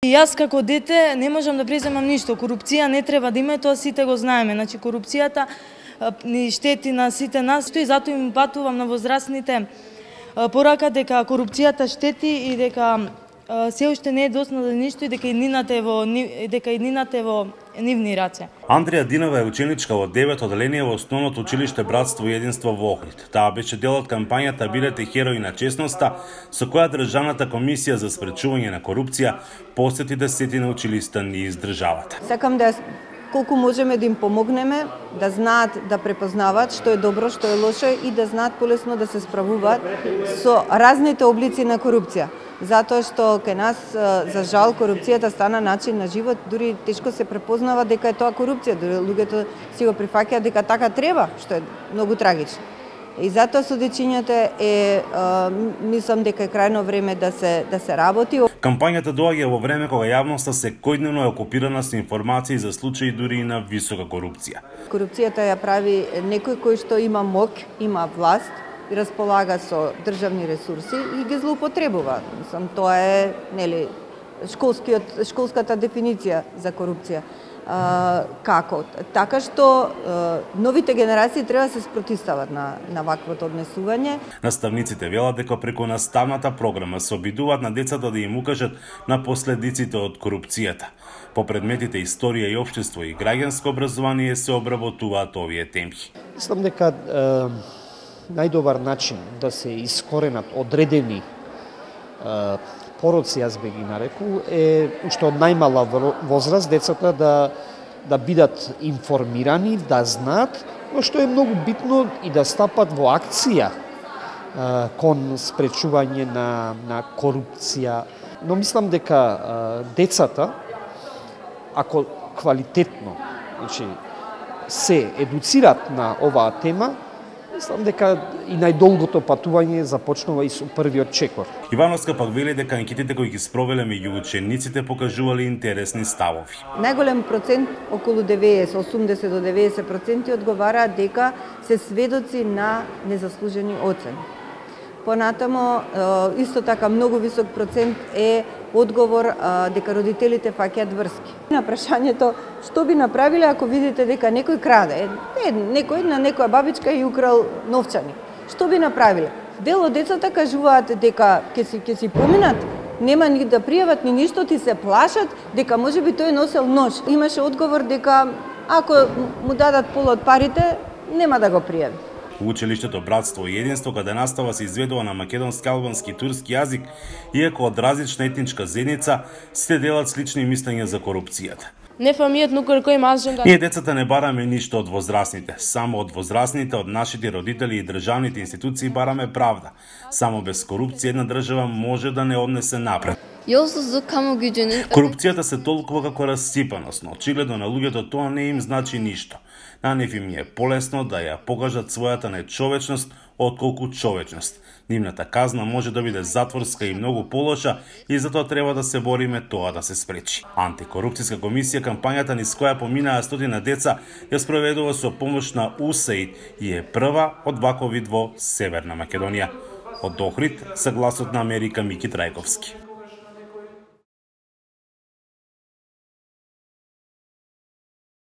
И јас како дете не можам да преземам ништо. Корупција не треба да има, тоа сите го знаеме. Значи корупцијата ни штети на сите нас и затоа им патувам на возрастните порака дека корупцијата штети и дека се уште не е доцна за ништо и дека иднината е во нивни раце. Андреја Динова е ученичка во 9 оделение во основното училиште Братство и единство во Охрид. Таа беше дел од кампањата Бидете херои на честноста, со која Државната комисија за спречување на корупција посети 10 училишта низ државата. Сакам да колку можеме да им помогнеме, да знаат да препознаваат што е добро, што е лошо и да знаат полесно да се справуваат со разните облици на корупција. Затоа што кај нас, за жал, корупцијата стана начин на живот, дури тешко се препознава дека е тоа корупција, дури луѓето си го прифаќаат дека така треба, што е многу трагично. И затоа со дечињата мислам дека е крајно време да се работи. Кампањата доаѓа во време кога јавноста секојдневно е окупирана со информации за случаи дури и на висока корупција. Корупцијата ја прави некој кој што има моќ, има власт, и располага со државни ресурси и ги злоупотребува. Мислам, тоа е, нели, школската дефиниција за корупција. Како? Така што новите генерации треба да се спротивстават на ваквото однесување. Наставниците велат дека преку наставната програма се обидуваат на децата да им укажат на последиците од корупцијата. По предметите историја и општество и граѓанско образование се обработуваат овие теми. Мислам дека најдобар начин да се искоренат одредени пороци, јас би ги нарекул, е уште од најмала возраст децата да бидат информирани, да знаат, но што е многу битно и да стапат во акција кон спречување на корупција. Но мислам дека децата, ако квалитетно се едуцират на оваа тема, мислам дека и најдолгото патување започнува и со првиот чекор. Ивановска пак вели дека анкетите кои ги спровеле меѓу учениците покажувале интересни ставови. Најголем процент, околу 80 до 90% одговараат дека се сведоци на незаслужени оцени. Понатамо, исто така многу висок процент е одговор дека родителите фаќаат врски. На прашањето што би направиле ако видите дека некој краде, некој на некоја бабичка и украл новчани. Што би направиле? Дел од децата кажуваат дека ќе си поминат, нема ни да пријават ни ништо, ти се плашат дека можеби тој носел нож. Имаше одговор дека ако му дадат пол од парите, нема да го пријави. Во училиштето Братство и единство, каде настава се изведува на македонски, албански и турски јазик, иако од различна етничка заедница, сите делат слични мислења за корупцијата. Ние децата не бараме ништо од возрастните, само од возрастните, од нашите родители и државните институции бараме правда. Само без корупција една држава може да не однесе напред. Корупцијата се толкува како расципаност, но очигледно на луѓето тоа не им значи ништо. На нив им е полесно да ја покажат својата нечовечност отколку човечност. Нивната казна може да биде затворска и многу полоша и затоа треба да се бориме тоа да се спречи. Антикорупцијска комисија кампањата низ која поминаа стотина деца ја спроведува со помош на УСАИД и е прва од ваков вид во Северна Македонија. Од Охрид, со Гласот на Америка, Мики Трајковски.